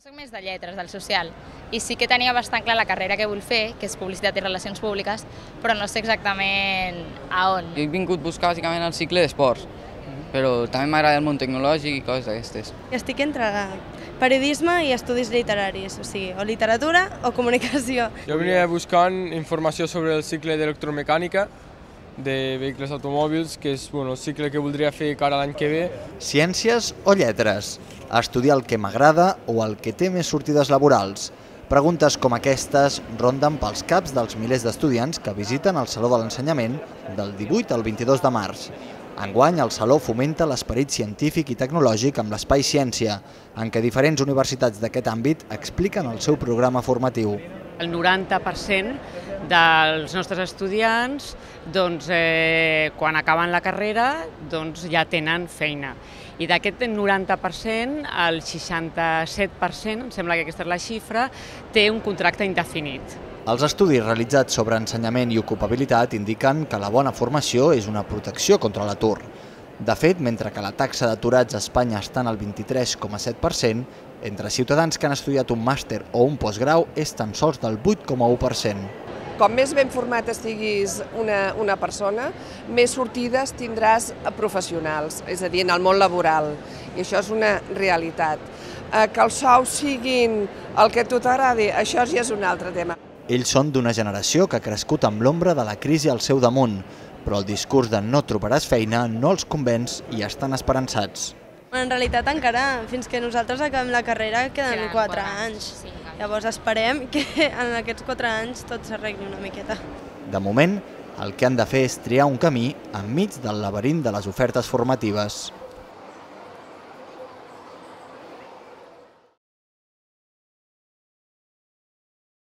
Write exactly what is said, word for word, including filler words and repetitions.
Soc més de lletres, del social, i sí que tenia bastant clar la carrera que vull fer, que és Publicitat i Relacions Públiques, però no sé exactament a on. He vingut a buscar bàsicament el cicle d'esports, però també m'agrada el món tecnològic i coses d'aquestes. Estic entre periodisme i estudis literaris, o sigui, o literatura o comunicació. Jo venia buscant informació sobre el cicle d'electromecànica de vehicles automòbils, que és bueno, el cicle que voldria fer cara l'any que ve. Ciències o lletres? Estudiar el que m'agrada o el que té més sortides laborals? Preguntes com aquestes ronden pels caps dels milers d'estudiants que visiten el Saló de l'Ensenyament del divuit al vint-i-dos de març. Enguany, el Saló fomenta l'esperit científic i tecnològic amb l'Espai Ciència, en què diferents universitats d'aquest àmbit expliquen el seu programa formatiu. El noranta per cent dels nostres estudiants, doncs, eh, quan acaben la carrera, doncs, ja tenen feina. I d'aquest noranta per cent, el seixanta-set per cent, em sembla que aquesta és la xifra, té un contracte indefinit. Els estudis realitzats sobre ensenyament i ocupabilitat indiquen que la bona formació és una protecció contra l'atur. De fet, mentre que la taxa d'aturats a Espanya està en el vint-i-tres coma set per cent, entre ciutadans que han estudiat un màster o un postgrau és tan sols del vuit coma u per cent. Com més ben format estiguis una, una persona, més sortides tindràs professionals, és a dir, en el món laboral. I això és una realitat. Que els sous siguin el que a tu t'agradi, això ja és un altre tema. Ells són d'una generació que ha crescut amb l'ombra de la crisi al seu damunt, però el discurs de no trobaràs feina no els convenç i estan esperançats. En realitat encara, fins que nosaltres acabem la carrera, queden quatre anys. Llavors esperem que en aquests quatre anys tot s'arregli una miqueta. De moment, el que han de fer és triar un camí enmig del laberint de les ofertes formatives.